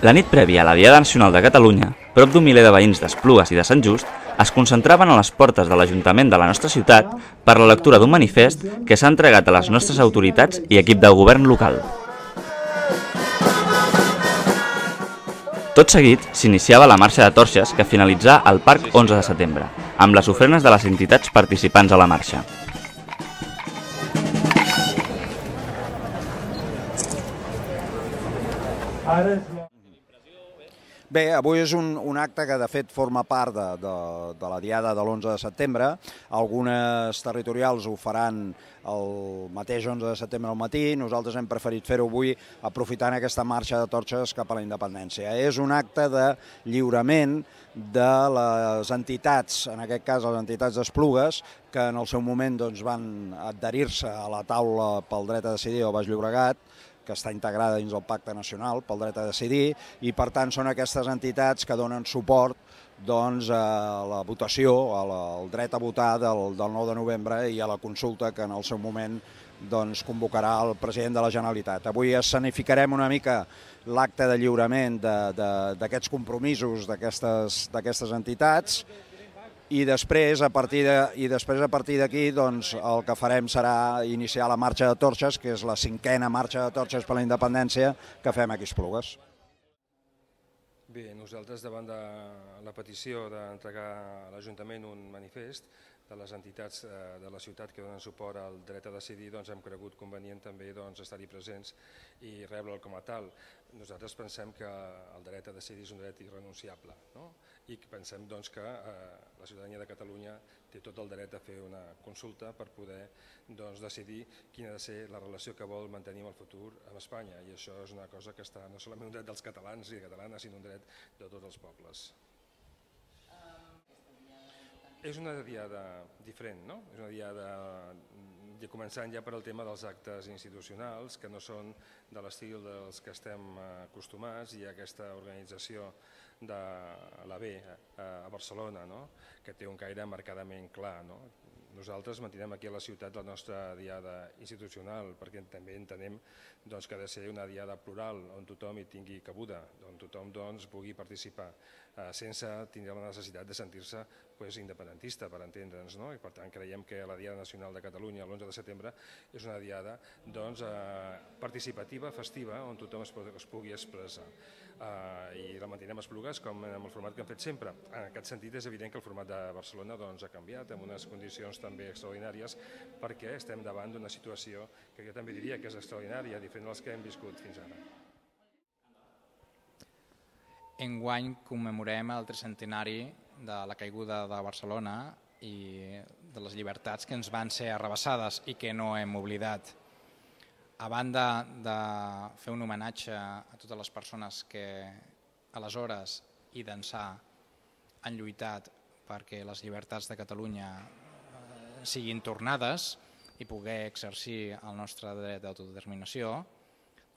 La nit prèvia a la Diada Nacional de Catalunya, prop d'un miler de veïns d'Esplugues i de Sant Just es concentraven a les portes de l'Ajuntament de la nostra ciutat per la lectura d'un manifest que s'ha entregat a les nostres autoritats i equip de govern local. Tot seguit s'iniciava la marxa de torxes que finalitzà al Parc 11 de setembre, amb les ofrenes de les entitats participants a la marxa. Bé, avui és un acte que de fet forma part de la Diada de l'11 de setembre. Algunes territorials ho faran el mateix 11 de setembre al matí. Nosaltres hem preferit fer-ho avui aprofitant aquesta marxa de torxes cap a la independència. És un acte de lliurament de les entitats, en aquest cas les entitats d'Esplugues, que en el seu moment van adherir-se a la taula pel dret a decidir al Baix Llobregat, que està integrada dins del Pacte Nacional pel dret a decidir, i per tant són aquestes entitats que donen suport a la votació, al dret a votar del 9 de novembre i a la consulta que en el seu moment convocarà el president de la Generalitat. Avui escenificarem una mica l'acte de lliurament d'aquests compromisos d'aquestes entitats, i després, a partir d'aquí, el que farem serà iniciar la marxa de torxes, que és la 5a marxa de torxes per la independència que fem aquí a Esplugues. Bé, nosaltres, davant de la petició d'entregar a l'Ajuntament un manifest de les entitats de la ciutat que donen suport al dret a decidir, hem cregut convenient també estar-hi presents i rebre'l com a tal. Nosaltres pensem que el dret a decidir és un dret irrenunciable, i pensem que la ciutadania de Catalunya té tot el dret a fer una consulta per poder decidir quina ha de ser la relació que vol mantenir en el futur amb Espanya, i això és una cosa que està no solament un dret dels catalans i catalanes, sinó un dret de tots els pobles. És una diada diferent, és una diada començant ja per al tema dels actes institucionals, que no són de l'estil dels que estem acostumats, i aquesta organització de l'AB a Barcelona, que té un caire marcadament clar. Nosaltres mantinem aquí a la ciutat la nostra diada institucional, perquè també entenem que ha de ser una diada plural, on tothom hi tingui cabuda, on tothom pugui participar, sense tindre la necessitat de sentir-se independentista, per entendre'ns. I per tant creiem que la Diada Nacional de Catalunya, l'11 de setembre, és una diada participativa, festiva, on tothom es pugui expressar. I la mantenim a Esplugues com en el format que hem fet sempre. En aquest sentit és evident que el format de Barcelona ha canviat en unes condicions també extraordinàries, perquè estem davant d'una situació que jo també diria que és extraordinària, diferent de les que hem viscut fins ara. Enguany commemorem el 300è de la caiguda de Barcelona i de les llibertats que ens van ser arrabassades i que no hem oblidat. A banda de fer un homenatge a totes les persones que aleshores i d'ençà han lluitat perquè les llibertats de Catalunya siguin tornades i poder exercir el nostre dret d'autodeterminació,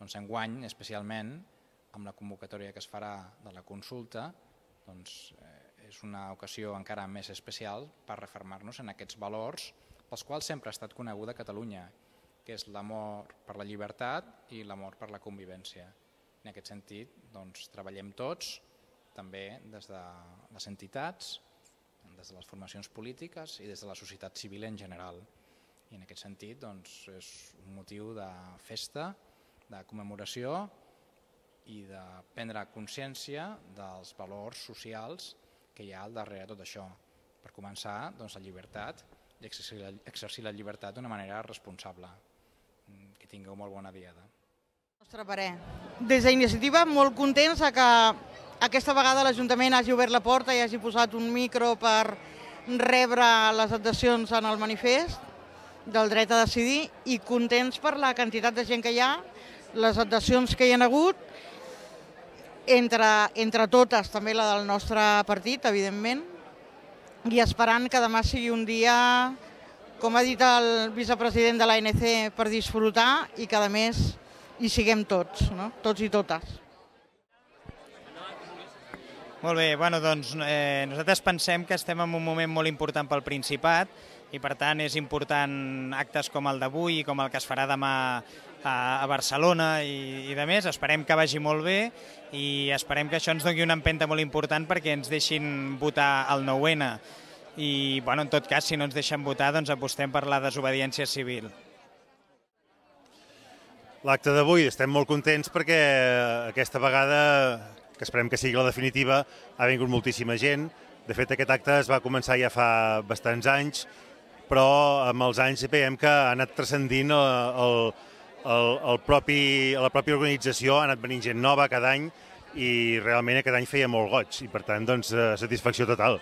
enguany, especialment, amb la convocatòria que es farà de la consulta, és una ocasió encara més especial per refermar-nos en aquests valors pels quals sempre ha estat coneguda Catalunya, que és l'amor per la llibertat i l'amor per la convivència. En aquest sentit, treballem tots, també des de les entitats, des de les formacions polítiques i des de la societat civil en general. I en aquest sentit és un motiu de festa, de commemoració i de prendre consciència dels valors socials que hi ha al darrere de tot això. Per començar, la llibertat i exercir la llibertat d'una manera responsable. Que tingueu molt bona diada. Nostre parer. Des d'Iniciativa, molt contents que aquesta vegada l'Ajuntament hagi obert la porta i hagi posat un micro per rebre les adhesions en el manifest del dret a decidir, i contents per la quantitat de gent que hi ha, les adhesions que hi ha hagut, entre totes, també la del nostre partit, evidentment, i esperant que demà sigui un dia, com ha dit el vicepresident de l'ANC, per disfrutar i que a més hi siguem tots, tots i totes. Molt bé, nosaltres pensem que estem en un moment molt important pel Principat i per tant és important actes com el d'avui i com el que es farà demà a Barcelona i de més. Esperem que vagi molt bé i esperem que això ens doni una empenta molt important perquè ens deixin votar el 9N. I, en tot cas, si no ens deixen votar, doncs apostem per la desobediència civil. L'acte d'avui estem molt contents perquè aquesta vegada, que esperem que sigui la definitiva, ha vingut moltíssima gent. De fet, aquest acte es va començar ja fa bastants anys, però amb els anys veiem que ha anat transcendint la pròpia organització, ha anat venint gent nova cada any i realment aquest any feia molt goig i per tant, satisfacció total.